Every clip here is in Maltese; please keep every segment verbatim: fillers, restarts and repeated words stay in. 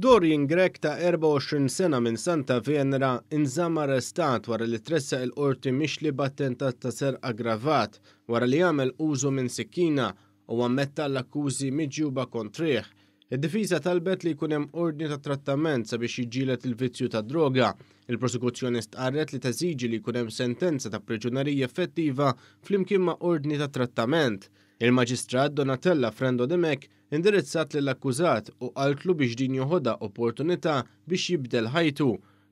Dorian Grech ta' erbgħa u għoxrin sena minn Santa Venera inżamm arrestat wara li tressaq il-qorti mixli b'attentat ta' serq aggravat wara li għamel użu minn sikkina u ammetta l-akkużi miġjuba kontrih. Id-difiża talbet li jkun hemm ordni ta' trattament sabiex jiġġieled il-vizzju ta' droga. Il-prosekuzzjoni stqarret li teżiġi li jkun hemm sentenza ta' priġunerija effettiva flimkien ma' ordni ta' trattament. Il-Maġistrat Donatella Frendo Dimech indirizzat lill-akkużat u qaltlu biex din joħodha opportunità biex jibdel ħajtu.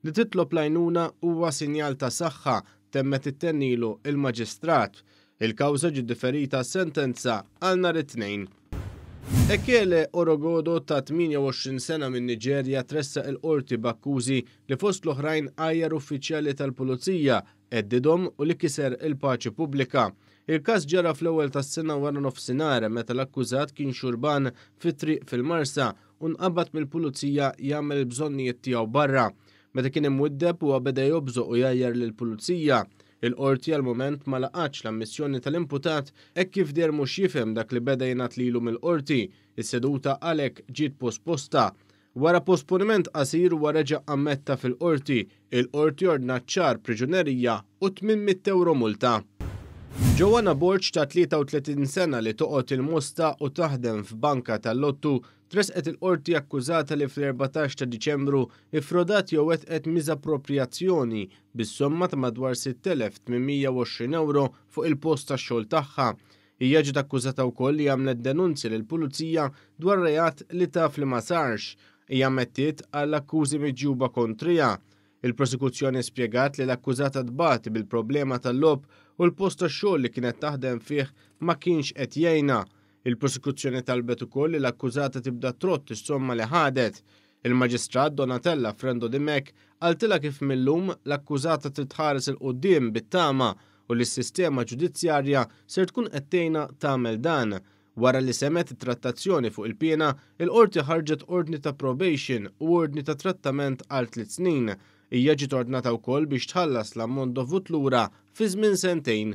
Li titlob l-għajnuna huwa sinjal ta' saħħa, temmet ittennilu il-Maġistrat. Il-kawża ġiet differita sentenza għal nhar it-Tnejn. Ekele Orogodo ta' tmienja u għoxrin sena minn Niġerja tressaq il-qorti b'akkużi li fost l-oħrajn għajjar uffiċjali tal-pulizija, għeddidhom u li kiser il-paċi pubblika. Il-każ ġara fl-ewwel tas-sena wara nofsinhar meta l-akkużat kien xurban fit-triq fil-Marsa u nqabad mill-pulizija jagħmel il-bżonnijiet tiegħu barra. Meta kien imwiddeb huwa beda jobżoq u jgħajjar lill-pulizija. Il-qorti għal mument ma laqatx l-ammissjoni tal-imputat hekk kif deher mhux jifhem dak li beda jingħad lilu mill-qorti. Is-seduta għalhekk ġiet posposta. Wara posponiment qasir huwa reġa' ammetta fil-qorti. Il-qorti ordnat xahar priġunerija u tmien mitt euro multa. Joanna Borg ta' tlieta u tletin sena li toqgħod il-Mosta u taħdem f'banka tal-lottu tresqet il-qorti akkużata li fl-erbatax ta' Diċembru iffrodat jew wettqet miżappropriazzjoni bis-somma ta' madwar sitt elef tmien mija u għoxrin euro fuq il-post tax-xogħol tagħha. Hija ġiet akkużata wkoll li għamlet denunzja lill-pulizija dwar reat li taf li ma sarx. Hija ammettiet għall akkużi miġjuba kontrija. Il-prosekuzzjoni spjegat li l-akkużata tbati bil-problema tal-logħob u l-post tax-xogħol li kienet taħdem fih ma kienx qed jgħinha. Il-prosekuzzjoni talbet ukoll li l-akkużata tibda trott is-somma li ħadet. Il-Maġistrat Donatella Frendo Dimech qaltilha kif millum l-akkużata trid tħares il quddiem bit-tama u li s-sistema ġudizzjarja ser tkun qed tgħinha tagħmel dan. Wara li semet it-trattazzjoni fuq il-piena, il-qorti ħarġet ordni ta' probation u ordni ta' trattament għal tliet snin. Hija ġiet ordnata wkoll biex tħallas l-ammont dovut lura fi żmien sentejn.